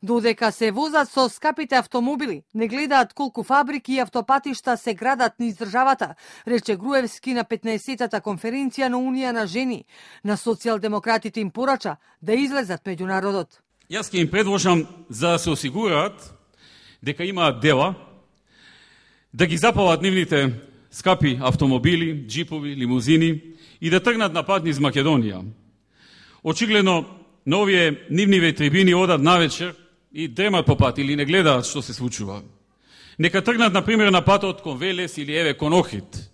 Додека се возат со скапите автомобили, не гледаат колку фабрики и автопатишта се градат низ државата, рече Груевски на 15-тата конференција на Унија на жени. На социјалдемократите им порача да излезат меѓу народот. Јас ќе им предложам за да се осигураат дека имаат дела, да ги запалат нивните скапи автомобили, джипови, лимузини и да тргнат на пат низ Македонија. Очигледно, на овие нивни трибини одат навечер и дремат по пат или не гледаат што се случува. Нека тргнат, например, на патот кон Велес или еве кон Охрид.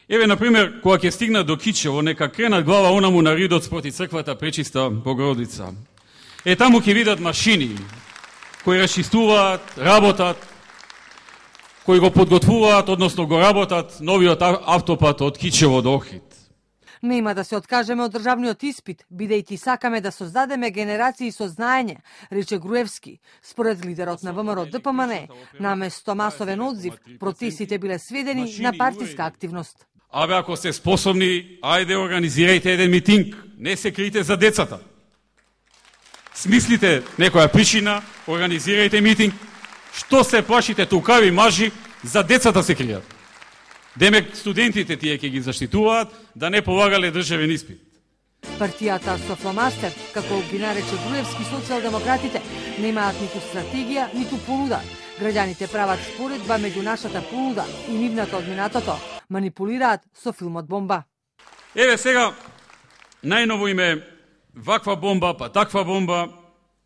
Еве, например, кога ќе стигнат до Кичево, нека кренат глава онаму на ридот спроти црквата Пречиста Богородица. Таму ќе видат машини кои расчистуваат, работат, кои го подготвуваат, односно го работат новиот автопат од Кичево до Охрид. Нема да се откажеме од државниот испит, бидејќи сакаме да создадеме генерации со знаење, рече Груевски. Според лидерот на ВМРО ДПМН, наместо масовен одзив, протестите биле сведени на партиска активност. Абе, ако сте способни, ајде организирајте еден митинг, не се крите за децата. Смислите некоја причина, организирајте митинг. Што се плашите тукави мажи, за децата се кријат? Демек студентите тие ќе ги заштитуваат да не полагале државен испит. Партијата со фломастер, како ги нарече Груевски, социјалдемократите немаат ниту стратегија, ниту понуда. Граѓаните прават споредба меѓу нашата понуда и нивната од минатото. Манипулираат со филмот Бомба. Еве сега, најново име ваква бомба, па таква бомба,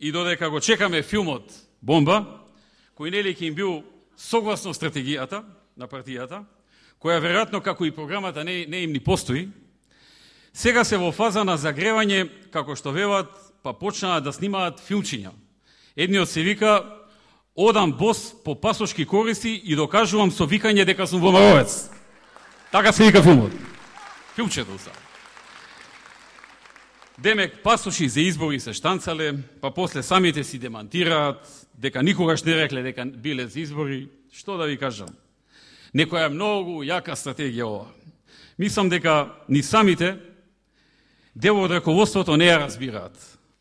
и додека го чекаме филмот Бомба, кој нели ќе им бил согласно стратегијата на партијата, која веројатно како и програмата не им ни постои, сега се во фаза на загревање, како што велат, па почнаа да снимаат филмчиња. Едниот се вика "Одам бос по пасошки кориси и докажувам со викање дека сум ВМРО-ец". Така се вика филмот. Филмчето са. Демек, пасоши за избори се штанцале, па после самите си демантираат дека никогаш не рекле дека биле за избори. Што да ви кажам? Некоја многу јака стратегија ова. Мислам дека ни самите дел од раководството не ја разбираат,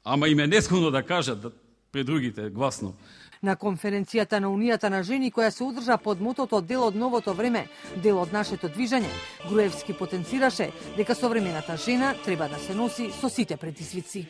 ама им е несконо да кажат пред другите гласно. На конференцијата на Унијата на жени, која се одржа под мотото "Дел од новото време, дел од нашето движење", Груевски потенцираше дека современата жена треба да се носи со сите предизвици.